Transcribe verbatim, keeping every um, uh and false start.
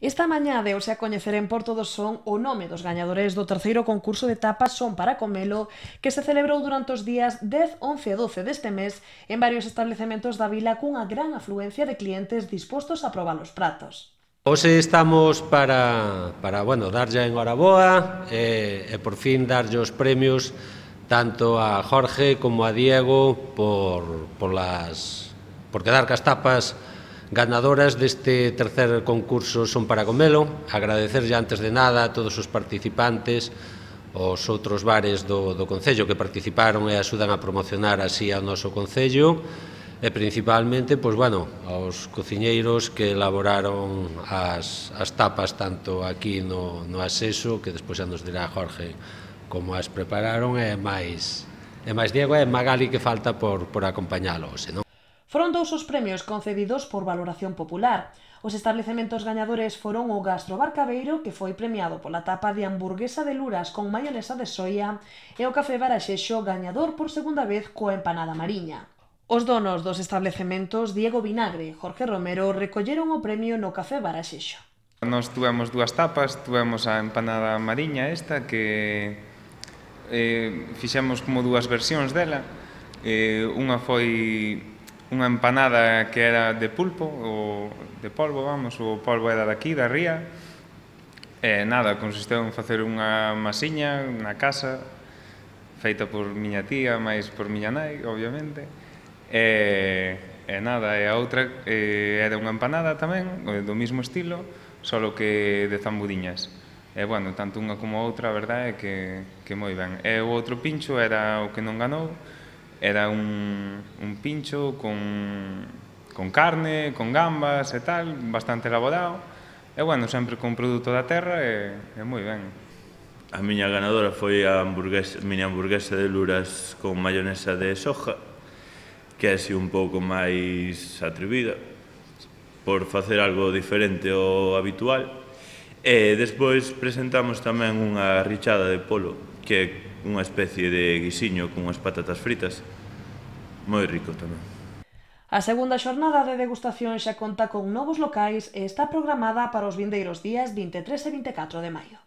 Esta mañá deuse a coñecer en Porto do Son o nome dos gañadores do terceiro concurso de tapas Son para Comelo, que se celebrou durante os días dez, once e doce deste mes en varios establecementos da vila cunha gran afluencia de clientes dispostos a probar os pratos. Hoxe estamos para, para bueno, darlle a enhoraboa e, e por fin darlle os premios tanto a Jorge como a Diego por, por, las, por quedar cas tapas ganadoras deste tercer concurso Son para Comelo. Agradecerlle antes de nada a todos os participantes, os outros bares do, do Concello que participaron e axudan a promocionar así ao noso Concello, e principalmente, pois, bueno, aos cociñeiros que elaboraron as, as tapas tanto aquí no, no Aseso, que despois xa nos dirá Jorge como as prepararon, e máis, e máis Diego e Magali que falta por, por acompañalo hoxe, non? Foron dous os premios concedidos por valoración popular. Os establecementos gañadores foron o Gastrobar Cabeiro, que foi premiado pola tapa de hamburguesa de luras con maionesa de soia, e o Café Baraxexo, gañador por segunda vez coa empanada mariña. Os donos dos establecementos, Diego Vinagre e Jorge Romero, recolleron o premio no Café Baraxexo. Nós tuvemos dúas tapas, tuvemos a empanada mariña esta, que eh, fixemos como dúas versións dela. Eh, unha foi unha empanada que era de pulpo, ou de polvo, vamos, o polvo era daqui, da ría. E nada, consistiu en facer unha masiña na casa, feita por miña tía, máis por miña nai, obviamente. E, e nada, e a outra eh, era unha empanada tamén, do mesmo estilo, solo que de zambudiñas. E, bueno, tanto unha como a outra, a verdade é que, que moi ben. E o outro pincho era o que non ganou, era un, un pincho con, con carne, con gambas e tal, bastante elaborado, e, bueno, sempre con produto da terra e, e moi ben. A miña ganadora foi a hamburguesa, miña hamburguesa de luras con mayonesa de soja, que é así un pouco máis atrevida, por facer algo diferente ao habitual. E despois presentamos tamén unha richada de polo, que é unha especie de guisiño con unhas patatas fritas, moi rico tamén. A segunda xornada de degustación xa conta con novos locais e está programada para os vindeiros días vinte e tres e vinte e catro de maio.